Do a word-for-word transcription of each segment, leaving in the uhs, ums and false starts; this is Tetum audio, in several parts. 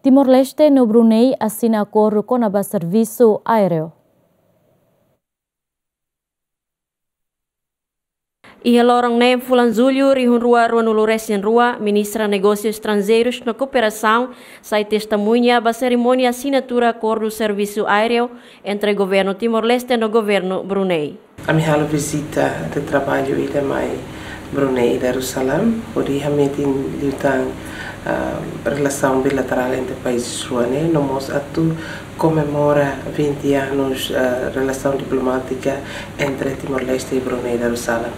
Timor-Leste no Brunei asina akordu kona-ba servisu aéreu. Iha loron neen fulan Jullu rihun rua ruanulu resin rua, Ministra Negósius Estranjeirus no Kooperasaun sai testemuña ba serimónia asinatura akordu servisu aéreu entre Governu Timor-Leste no Governu Brunei. Ami halo vizita de traballu ida mai Brunei, Darussalam, hodi hametin liután, ah, relasaun bilaterál entre países rua ne'e, no mós atu komemora vinte anos, ah, relasaun diplomátika entre Timor-Leste e Brunei, Darussalam.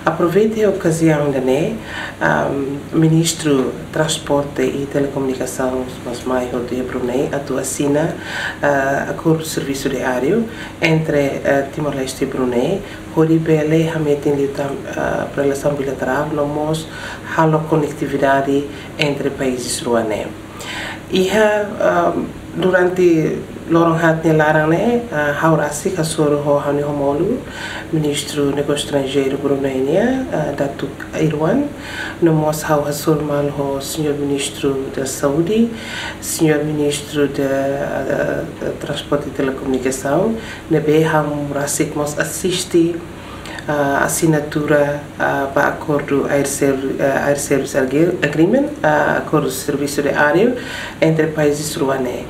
Aproveita okaziaun ida-ne'e, ah, Ministru Transporte e Telekomunikasaun mós mai hotu iha Brunei atu asina, ah, akordu servisu aéreu entre, eh, Timor-Leste e Brunei, hodi bele hametin liután, eh, relasaun bilaterál, no mós halo konektividade entre países rua ne'e. Iha, eh, durante loron haat nia laran ne'e, eh, ha'u rasik hasoru ho ha'u-nia homólogu, Ministru Negósius Estranjeirus Brunei nian, eh, Datuk Irwan, no mós ha'u hasoru malu ho Señór Ministru da Saúde, Señór Ministru da, eh, Transporte e Telekomunikasaun, ne'ebé ha'u rasik mós asiste, ah, asinatura, ah, ba akordu Air Serv-, ah, Air Service Agre-, Agreement, ah, akordu servisu aéreu entre países rua ne'e.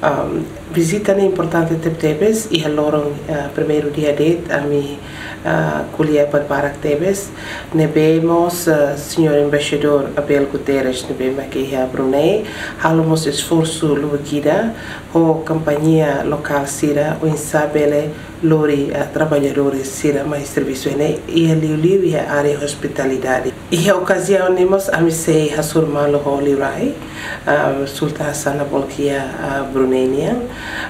Am, vizita ne'e importante tebetebes, iha loron, ah, primeiru dia de'it, ami, ah, ko'alia barak tebes, ne'ebé mós, ah, Señór Embaixadór Abel Guterres, ne'ebé mak iha Brunei, halo mós esforsu lubuk ida, ho kompañia lokál sira, oinsá bele lori, ah, traballadór sira mai servisu ne'e, iha liuliu iha área hospitalidade. Iha okaziaun ne'e mós ami sei hasoru malu ho liurai, ah, Sultan Hassanal Bolkiah, ah, Brunei nian,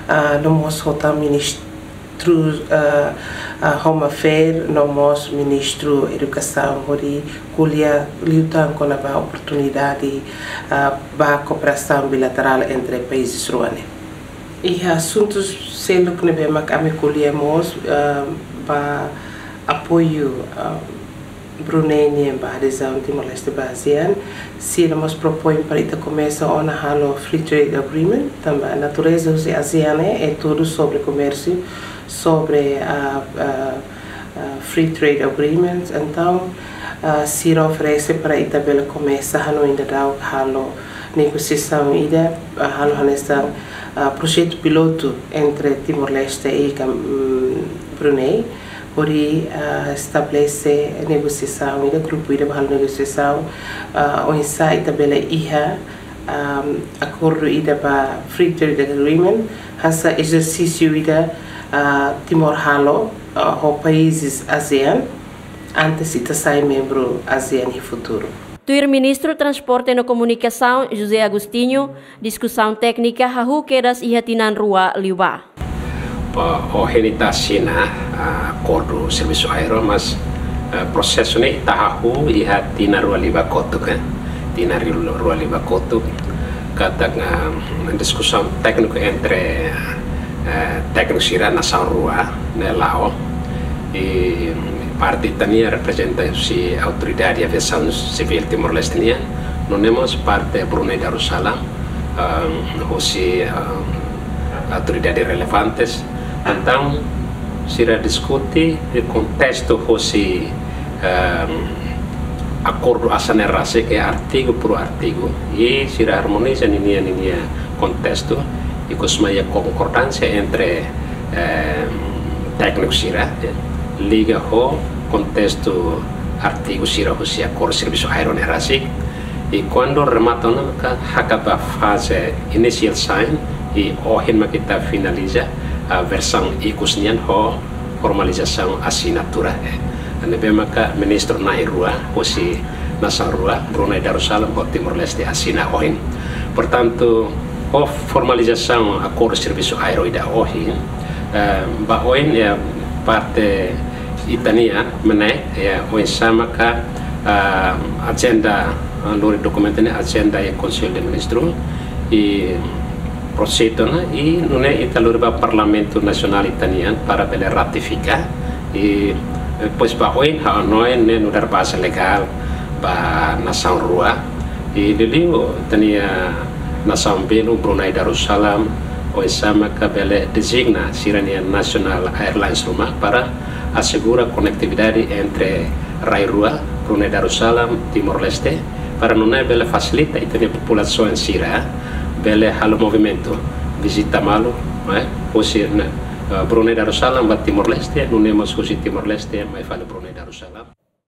ah, no mós ho tan Ministru, ah, ah, Home Affairs, no mós Ministru Edukasaun hodi ko'alia liután kona-ba oportunidade, ah, ba kooperasaun bilaterál entre países rua ne'e. Iha asuntu seluk ne'ebé mak ami ko'alia mós, ah, ba apoiu, ah, Brunei nian ba adezaun Timor-Leste ba ASEAN, sira mós propoin para ita komesa ona halo Free Trade Agreement, tanba natureza husi ASEAN ne'e, é tudo sobre comércio, sobre, ah, ah, ah, Free Trade Agreement. Entaun, ah, sira oferese para ita bele komesa hanoin daudaun halo negosiasaun ida, ah, halo hanesan, ah, projetu pilotu entre Timor-Leste e Kam-, mm, Brunei, hodi, ah, estabelese negosiasaun ida, grupu ida ba halo negosiasaun, ah, oinsá ita bele iha, ah, akordu ida ba Free Trade Agreement, hanesan ezersísiu ida, ah, Timor halo, ah, ho países ASEAN, antes ita sai membru ASEAN iha futuru. Tuir Ministru Transporte no Komunikasaun, José Agostinho, diskusaun téknika hahú kedas iha tinan rua liubá. Ba ohin ita asina, ah, akordu servisu aéreu, mas, ah, prosesu ne'e ita hahú iha tinan rua liubá kotuk, eh. Tinan ri-, rua liubá kotuk. Katak, ah, diskusaun tékniku entre, eh, tékniku sira nasaun rua ne'e la'o. I parte ita-nia reprezenta husi Autoridade Aviasaun Sivíl Timor-Leste nian, nune'e mós parte Brunei Darussalam, ah, husi, ah, autoridade relevantes. Entaun, sira diskute iha kontestu husi, ah, akordu ASEAN ne'e rasik, iha artigu por artigu, i sira armoniza ninia, ninia kontestu, i kostumadu iha konkordánsia entre, eh, tékniku sira, eh, liga ho kontestu artigu sira husi akordu servisu aéreu ne'e rasik. I kuandu remata ona maka hakat ba faze initial sign, i ohin maka ita finaliza, ah, versaun ikus nian ho formalizasaun asinatura, eh. Ne'ebé maka ministru na'in rua husi nasaun rua, Brunei Darussalam ho Timor-Leste asina ohin. Portantu, ho formalizasaun akordu servisu aéreu ida ohin, eh, ba oin, eh, parte ita-nian, MNEK, eh, oinsá maka, ah, ajenda, ah, lori dokumentu ne'e ajenda iha Konsellu de Ministru, i prosede ona, i nune'e ita lori ba Parlamentu Nasionál ita-nian para bele ratifika, i depois ba oin ha'u hanoin ne'e nu'udar baze legál ba nasaun rua, i liuliu ita-nia, nasaun belun Brunei Darussalam, oinsá maka bele dezigna sira-nia national airlines ruma para asegura konektividade entre rai rua, Brunei Darussalam, Timor-Leste, para nune'e bele fasilita ita-nia populasaun sira bele halo movimentu, vizita malu, eh, husi, eh, Brunei Darussalam ba Timor-Leste, nune'e mós husi Timor-Leste mai fali Brunei Darussalam.